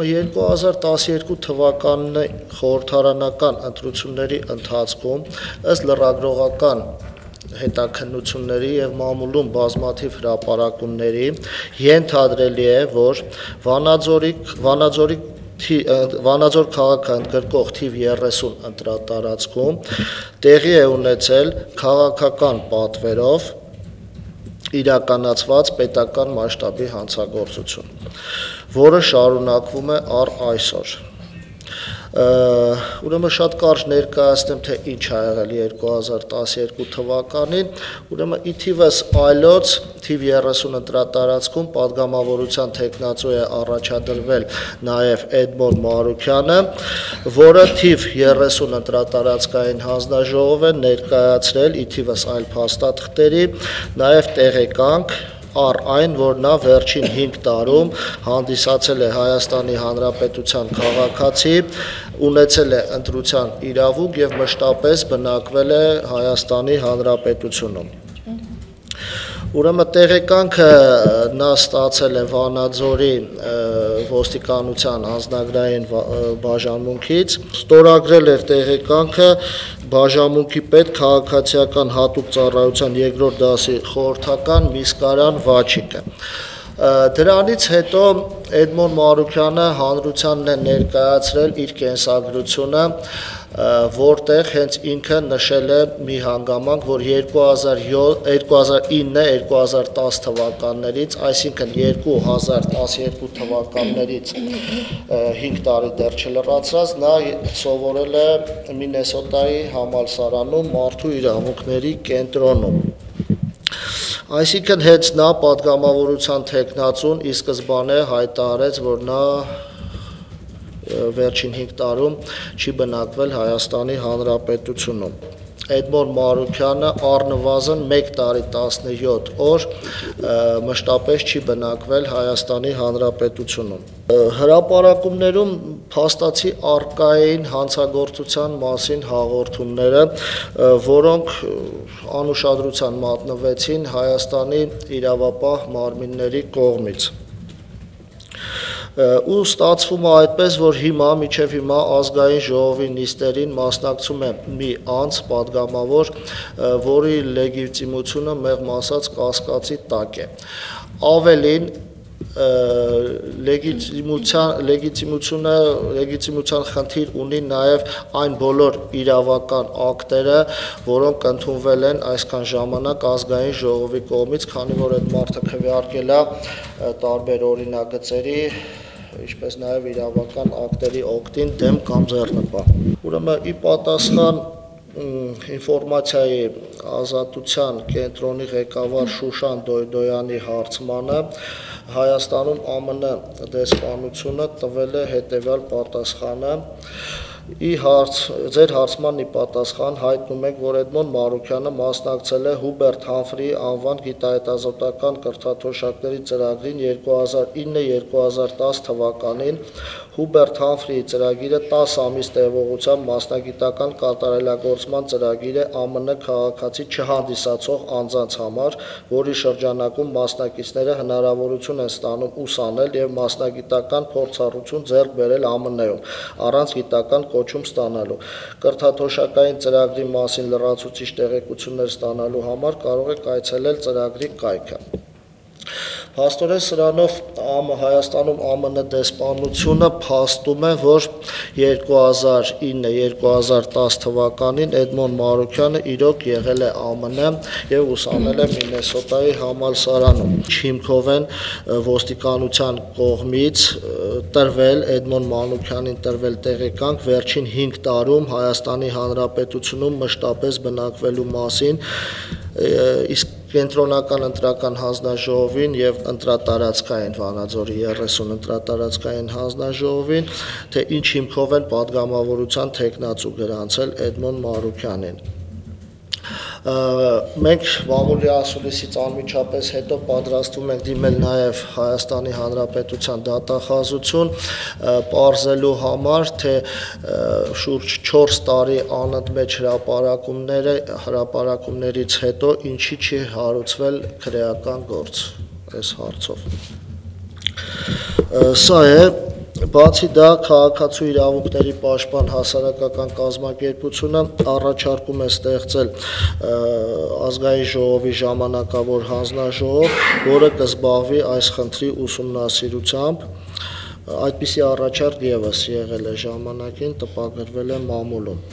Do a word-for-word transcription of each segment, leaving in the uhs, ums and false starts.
երկու հազար տասներկու թվականի խորհրդարանական ընտրությունների ընթացքում ըստ լրագրողական հետաքննությունների և մամուլում բազմաթիվ հրապարակումների ենթադրելի է, որ Վանաձորի Վանաձոր քաղաքը ընդգրկող թիվ երեսուն ընտրատարածքում տեղի է ունեցել քաղաքական պատվերով իրականացված պետական մասշտաբի հանցագործություն, որը շարունակվում է առ այսօր։ Ուրեմն շատ կարճ ներկայացնեմ, թե ինչ ա եղել երկու հազար տասներկու թվականին, ուրեմն ի թիվս այլոց թիվ երեսուն ընտրատարածքում պատգամավորության թեկնածու է առաջադրվել նաև Էդմոն Մանուկյանը, որը թիվ երեսուն ընտրատարածքային հանձնաժողով է ներկայացրել ի թիվս այլ փաստաթղթերի, նաև տեղեկանք առ այն, որ նա վերջին հինգ տարում հանդիսացել է Հայաստանի Հանրապետության քաղաքացի, ունեցել է ընտրության իրավունք և մշտապես բնակվել է Հայաստանի Հանրապետությունում։ Ուրեմն տեղեկանքը նա ստացել է Վանաձորի ոստիկանության անձնագրային բաժանմունքից, ստորագրել էր տեղեկանքը բաժանմունքի պետ քաղաքացիական հատուկ ծառայության երկրորդ դասի խորհրդական Միսկարյան Վաչիկը։ Դրանից հետո Էդմոն Մանուկյանը հանրությանն է ներկայացրել իր կենսագրությունը, որտեղ հենց ինքը նշել է մի հանգամանք, որ երկու հազար ինը երկու հազար տասը թվականներից, այսինքն երկու հազար տասներկու թվականներից հինգ տարի դեռ չլրացրած, նա սովորել է Մինեսոտայի համալսարանում մարդու իրավունքների կենտրոնում։ Այսինքն հենց նա պատգամավորության թեկնածուն ի սկզբանե հայտարարեց, որ նա վերջին հինգ տարում չի բնակվել Հայաստանի Հանրապետությունում։ Էդմոն Մանուկյանը առնվազն մեկ տարի տասնյոթ օր մշտապես չի բնակվել Հայաստանի Հանրապետությունում։ Հրապարակումներում փաստացի առկա էին հանցագործության մասին հաղորդումները, որոնք անուշադրության մատնվեցին Հայաստանի իրավապահ մարմինների կողմից։ Ու ստացվում է այդպես, որ հիմա մինչև հիմա ազգային ժողովի նիստերին մասնակցում է մի անձ պատգամավոր, որի լեգիտիմությունը մեղմ ասած կասկածի տակ է։ Ավելին, լեգիտիմությունը, լեգիտիմության խնդիր ունի նաև այն բոլոր իրավական ակտերը, որոնք ընդունվել են այսքան ժամանակ ազգային ժողովի կողմից, քանի որ այդ մարդը քվեարկել է տարբեր օրինագծերի, ինչպես նաև իրավական ակտերի օգտին դեմ կամ ձեռնպահ։ Ուրեմն ի պատասխան ինֆորմացիայի ազատության կենտրոնի ղեկավար Շուշան Դոյդոյանի հարցմանը Հայաստանում ԱՄՆ դեսպանությունը տվել է հետևյալ պատասխանը. Ձեր հարցման ի պատասխան հայտնում ենք, որ Էդմոն Մանուկյանը մասնակցել է Հուբերտ Համֆրիի անվան գիտահետազոտական կրթաթոշակների ծրագրին երկու հազար ինը երկու հազար տասը թվականին։ Հուբերտ Համֆրիի ծրագիրը տասը ամիս տևողությամբ մասնագիտական կատարելագործման ծրագիր է ԱՄՆ քաղաքացի չհանդիսացող անձանց համար, որի շրջանակում մասնակիցները հնարավորություն են ստանում ուսանել և մասնագիտական փորձառություն ձեռք բերել ԱՄՆ-ում, առանց գիտական կոչում ստանալու։ Կրթաթոշակային ծրագրի մասին լրացուցիչ տեղեկություններ ստանալու համար կարող եք այցելել ծրագրի կայքը։ Փաստորեն սրանով Հայաստանում ԱՄՆ դեսպանությունը փաստում է, որ երկու հազար ինը երկու հազար տասը թվականին Էդմոն Մանուկյանը իրոք եղել է ԱՄՆ և ուսանել է Մինեսոտայի համալսարանում։ Հիմքով են ոստիկանության կողմից տրվել Էդմոն Մանուկյանին տրվել տեղեկանք վերջին հինգ տարում Հայաստանի Հանրապետությունում մշտապես բնակվելու մասին, իսկ Կենտրոնական ընտրական հանձնաժողովին և ընտրատարածքային Վանաձորի երեսուն ընտրատարածքային հանձնաժողովին, թե ինչ հիմքով են պատգամավորության թեկնածու գրանցել Էդմոն Մանուկյանին։ Մենք մամուլի ասուլիսից անմիջապես հետո պատրաստվում ենք դիմել նաև Հայաստանի Հանրապետության դատախազություն, պարզելու համար, թե շուրջ չորս տարի անընդմեջ հրապարակումներից հետո ինչի չի հարուցվել քրեական գործ այս հարցով։ Սա է Բացի դա, քաղաքացու իրավունքների պաշտպան հասարակական կազմակերպությունը առաջարկում է ստեղծել ազգային ժողովի ժամանակավոր հանձնաժողով, որը կզբաղվի այս խնդրի ուսումնասիրությամբ։ Այդպիսի առաջարկ ևս եղել է ժամանակին, տպագրվել է մամուլում։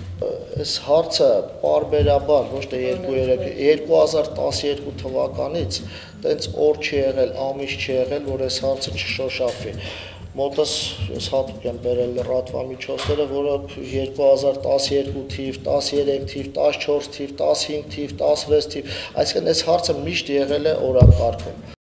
Այս հարցը պարբերաբար, ոչ թե երկու հազար տասներկու թվականից տենց օր չի եղել, ամիս չի եղել, որ այս հարցը չշոշափվի։ Մոտս ես հատուկ եմ բերել լրատվամիջոցները, որը երկու հազար տասներկու թիվ, տասներեք թիվ, տասնչորս թիվ, տասնհինգ թիվ, տասնվեց թիվ, այսինքն այս հարցը միշտ եղել է օրակարգում։